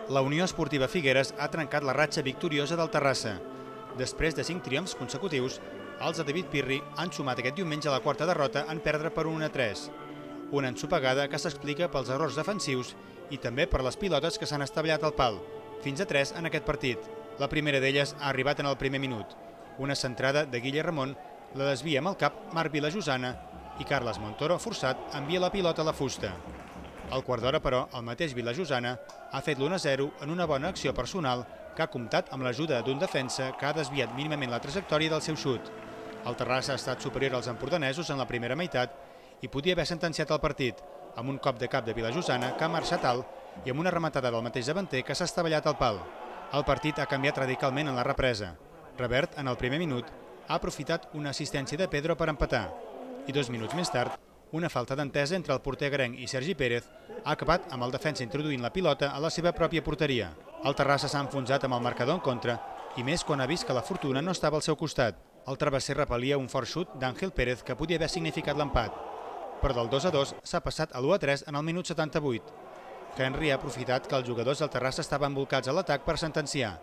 La Unió Esportiva Figueres ha trencat la ratxa victoriosa del Terrassa. Després de 5 triomfs consecutius, els de David Pirri han sumat aquest diumenge la quarta derrota en perdre per 1-3. Una ensopegada que s'explica pels errors defensius i també per les pilotes que s'han estavellat al pal, fins a 3 en aquest partit. La primera d'elles ha arribat en el primer minut. Una centrada de Guille Ramon la desvia amb el cap Marc Vilajosana i Carles Montoro, forçat, envia la pilota a la fusta. Al quart d'hora, però, el mateix Vilajosana ha fet l'1-0 en una bona acció personal que ha comptat amb l'ajuda d'un defensa que ha desviat mínimament la trajectòria del seu xut. El Terrassa ha estat superior als empordanesos en la primera meitat i podia haver sentenciat el partit, amb un cop de cap de Vilajosana que ha marxat alt i amb una rematada del mateix davanter que s'ha estavellat al pal. El partit ha canviat radicalment en la represa. Revert, en el primer minut, ha aprofitat una assistència de Pedro per empatar i 2 minuts més tard, una falta d'entesa entre el porter garenc i Sergi Pérez ha acabat amb el defensa introduint la pilota a la seva pròpia porteria. El Terrassa s'ha enfonsat amb el marcador en contra i més quan ha vist que la fortuna no estava al seu costat. El travesser repelia un fort xut d'Àngel Pérez que podia haver significat l'empat, però del 2-2 s'ha passat a l'1-3 en el minut 78. Henry ha aprofitat que els jugadors del Terrassa estaven volcats a l'atac per sentenciar.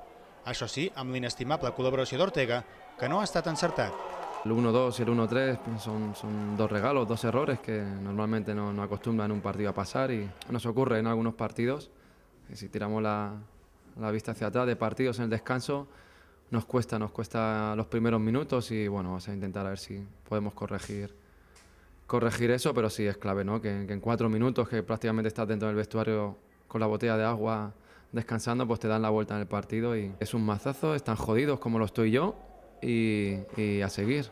Això sí, amb l'inestimable col·laboració d'Ortega, que no ha estat encertat. El 1-2 y el 1-3 son dos regalos, dos errores que normalmente no acostumbran en un partido a pasar y nos ocurre en algunos partidos. Si tiramos la vista hacia atrás de partidos en el descanso, nos cuesta los primeros minutos y bueno, vamos a intentar a ver si podemos corregir eso, pero sí es clave, ¿no? Que en 4 minutos que prácticamente estás dentro del vestuario con la botella de agua descansando, pues te dan la vuelta en el partido y es un mazazo, están jodidos como lo estoy yo. I a seguir,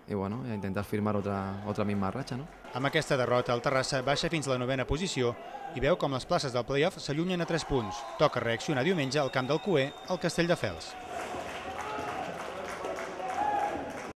i bueno, a intentar firmar otra misma ratxa, no? Amb aquesta derrota, el Terrassa baixa fins a la 9a posició i veu com les places del play-off s'allunyen a 3 punts. Toca reaccionar diumenge al camp del Cué, al Castelldefels.